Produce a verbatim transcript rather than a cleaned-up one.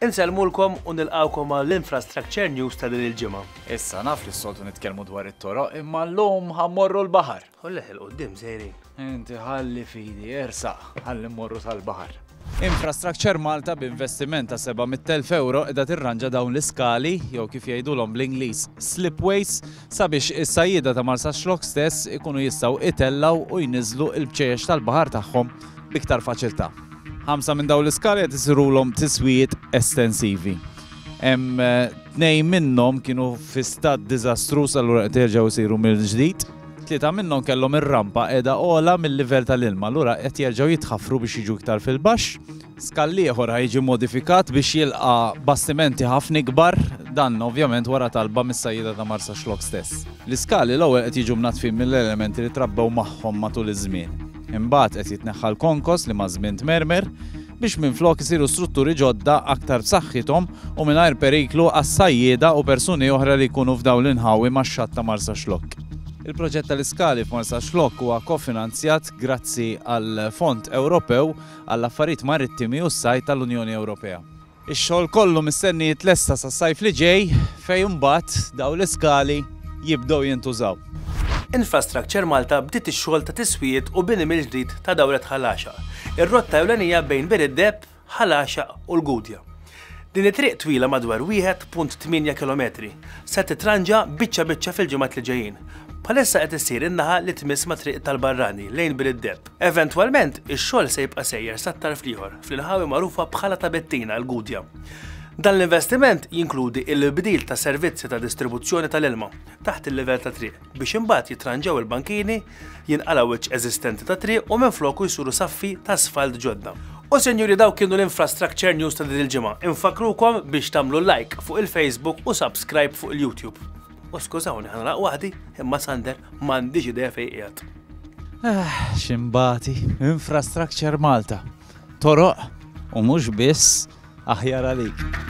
Insellmulkom u nilqawkom għall-Infrastructure News ta' din il-ġimgħa. Issa naf li s-soltu nitkellmu dwar it-toroq, imma llum ħa mmorru l-baħar. Ħolleħ il-qoddim sejrin. Inti ħalli fidi, ersaq, ħalli mmorru sal-baħar. Infrastructure Malta b'investiment ta' seba' mitt elf euro qiegħda tirranġa dawn l-iskali, jew kif jgħidulhom bl-Ingliż slipways, sabiex is-sajjieda ta' Marsaxlokk stess ikunu jistgħu itellgħu u jniżlu il-bċejjex tal-baħar tagħhom b'iktar faċilità. Ħamsa minn dawn l-iskali qed isirulhom tiswijiet estensivi. Hemm eh, tnejn minnhom kienu fi stat diżastruż, allura qed jerġgħu jsiru mill-ġdid. Tlieta minnhom kellhom ir-rampa qiegħda ogħla mill-livell tal-ilma, allura qed jerġgħu jitħaffru biex jiġu iktar fil-baxx. Skall ieħor ħa jiġi modifikat biex jilqa' bastimenti ħafna ikbar, dan ovvjament wara talba mis-sajjieda ta' Marsaxlokk stess. L-iskali l-ewwel qed jiġu mnatfin mill-elementi li trabbew magħhom matul iż-żmien. Imbagħad qed jitneħħa l-konkos li maż-żmien tmermer biex minflok isiru strutturi ġodda aktar b'saħħithom u mingħajr periklu għas-sajjieda u persuni oħra li jkunu f'dawn l-inħawi max-xatt ta' Marsaxlokk. Il-proġett tal-iskali f'Marsaxlokk huwa kofinanzjat grazzi għal Fond Ewropew għall-Affarijiet Marittimi u s-Sajd tal-Unjoni Ewropea. Ix-xogħol kollu mistenni jitlesta sas-sajf li ġej, fejn imbagħad dawn l-iskali jibdew jintużaw. Infrastructure Malta bdiet ix-xogħol ta' tiswijiet u bini mill-ġdid ta' Dawret Ħal Għaxaq, ir-rotta ewlenija bejn Bir id-Deheb, Ħal Għaxaq u l-Gudja. Din it-triq twila madwar wieħed punt tmienja kilometri se titranġa biċċa biċċa fil-ġimgħat li ġejjin. Bħalissa qed issir in-naħa li tmiss ma' triq tal-Barrani lejn Bir id-Deheb. Eventwalment, ix-xogħol se jibqa' sejjer sat-tarf l-ieħor fl-inħawi magħrufa bħala ta' Bettina, l-Gudja. Dan l-investiment jinkludi il-bdil ta' servizzi ta' distribuzzjoni tal-ilma taħt il-livell ta' triq biex imbagħad jitranġaw il-bankini, jinqala wiċċ eżistenti ta' triq u minfloku jsiru saffi ta' asfalt ġodda. U senjuri, daw kienu l-Infrastructure News ta' din il-ġimgħa. Infakrukom biex tagħmlu like fuq il-Facebook u subscribe fuq il-YouTube. U skużawni, ħa nagħlaq waħdi, imma Sander m'għandix idea fejn qiegħed. Ah, ximbati, Infrastructure Malta. Toroq u mhux biss, aħjar għalik.